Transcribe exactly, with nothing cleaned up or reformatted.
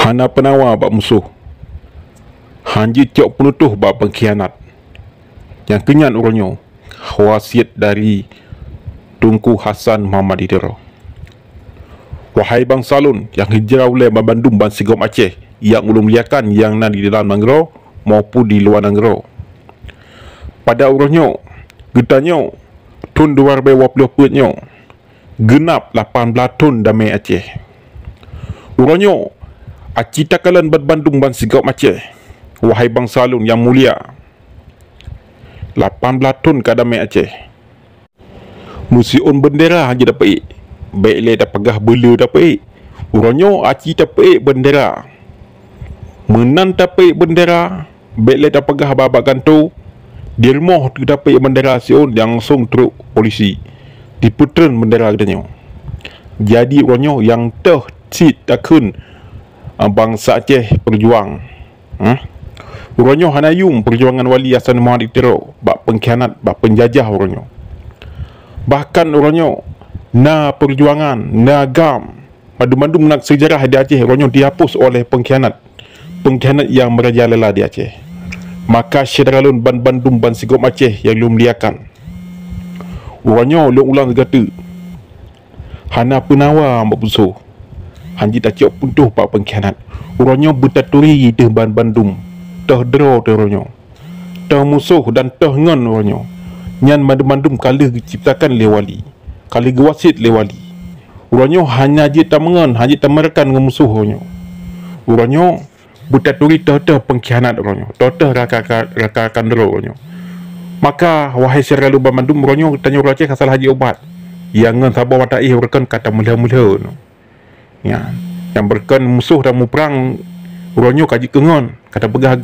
Hana peunawa bak musoh, han jeuet cok peunutoh bak peungkhianat. Nyang keunyan uroe nyoe, wasiet dari Teungku Hasan Muhammad di Tiro. Wahai bansa lôn nyang hijrah ulée banmandum bansigom Aceh nyang ulôn muliakan, nyang na di dalam nanggroe maupun di luwa nanggroe. Pada uroe nyoe, geutanyoe, thon dua ribée dua ploh peuet nyoe, geunab lapan blaih thon damé Aceh. Uroe nyoe, aci takalon banmandum bansigom Aceh, wahai bansa lôn nyang mulia, lapan blaih thon ka damé Aceh. Meusiôn beundera han jeuet tapeuék, bék lé tapeugah beule tapeuék. Uroe nyoe aci tapeuék beundera. Meunan tapeuék beundera, bék lé tapeugah babah gantoe. Di rumoh teutapeuék beundera siôn, langsong trok polisi, dipeutreun beundera geutanyoe. Jadi uroe nyoe nyang teuh cit takheun, a, bansa Aceh peujuang. Hah? Uroe nyoe hana yuem peujuangan Wali Hasan Muhammad di Tiro bak peungkhianat, bak peunjajah uroe nyoe. Bahkan uroe nyoe na peujuangan, na GAM, mandum-mandum na seujarah di Aceh uroe nyoe dihapus oleh peungkhianat, peungkhianat nyang meurajalela di Aceh. Maka syedara lôn banmandum bansigom Aceh nyang lôn muliakan, uroe nyoe lôn ulang sigoe teuk, hana peunawa bak musoh, han jeuet tacok peunutoh bak peungkhianat. Uroe nyoe beutaturi teuh banmandum, teuh droe teuh uroe nyoe, teuh musoh dan teuh ngon uroe nyoe. Nyan mandum-mandum ka lheueh geuciptakan lé Wali, ka lheueh geuwasiet lé Wali. Uroe nyoe hana jeuet tameungon, han jeuet tameurakan ngon musoh uroe nyoe. Uroe nyoe beutaturi teuh-teuh peungkhianat uroe nyoe, teuh-teuh raka-, raka-, rakan droe uroe nyoe. Maka, wahai syedara lôn banmandum, uroe nyoe tanyoe ureuëng Aceh ka salah jih ubat. Nyang ngon saboh mata éh beureukan ka tameulhö-meulhö nyoe. Nyan, nyang beureukan musoh dan muprang uroe nyoe ka jeuet keu ngon, ka tapeugah